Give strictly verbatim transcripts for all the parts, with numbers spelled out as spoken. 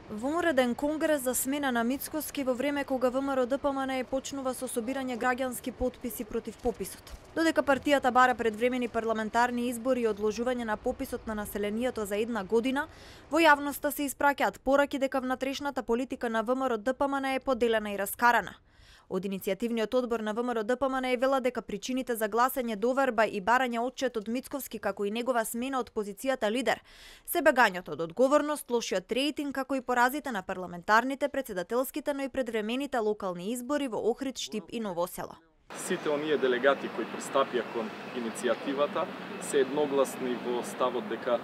Вонреден конгрес за смена на Мицкоски во време кога ВМРО-ДПМНЕ почнува со собирање граѓански потписи против пописот. Додека партијата бара предвремени парламентарни избори и одложување на пописот на населението за една година, во јавноста се испраќаат пораки дека внатрешната политика на ВМРО-ДПМНЕ е поделена и раскарана. Од иницијативниот одбор на ВМРО-ДПМНЕ вела дека причините за гласање доверба и барање отчет од Мицковски како и негова смена од позицијата лидер се бегањето од одговорност, лошиот рейтинг како и поразите на парламентарните, председателските, но и предвремените локални избори во Охрид, Штип и Ново село. Сите оние делегати кои пристапија кон иницијативата се едногласни во ставот дека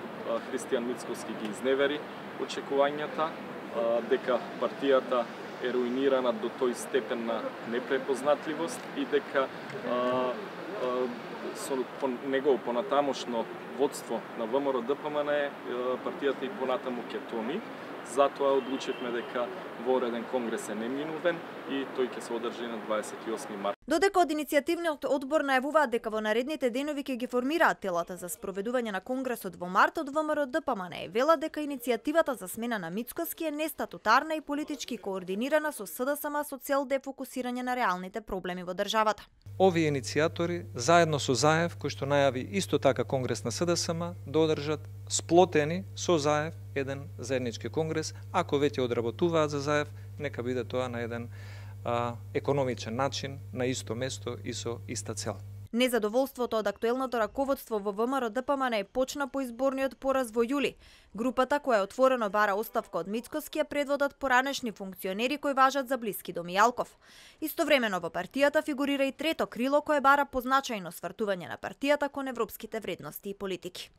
Христијан Мицковски ги изневери очекувањата, дека партијата е руинирана до тој степен на непрепознатливост и дека а, а, со по, негово понатамошно водство на ВМРО-ДПМНЕ партијата и понатаму ќе тони. Затоа одлучивме дека вореден конгрес е неминувен и тој ќе се одржи на дваесет и осми март. Додека од иницијативниот одбор најавуваат дека во наредните денови ќе ги формираат телата за спроведување на конгресот во март, од ВМРО-ДПМНЕ вела дека иницијативата за смена на Мицкоски е нестатутарна и политички координирана со СДСМ со цел дефокусирање на реалните проблеми во државата. Овие иницијатори, заедно со Заев, кој што најави исто така конгрес на СДСМ, да одржат сплотени со Заев еден заеднички конгрес. Ако веќе одработуваат за Заев, нека биде тоа на еден а, економичен начин, на исто место и со иста цел. Незадоволството од актуелното раководство во ВМРО-ДПМНЕ почна по изборниот пораз во јули. Групата која отворено бара оставка од Мицкоски ја предводат поранешни функционери кои важат за блиски до Мијалков. Истовремено во партијата фигурира и трето крило кое бара позначајно свртување на партијата кон европските вредности и политики.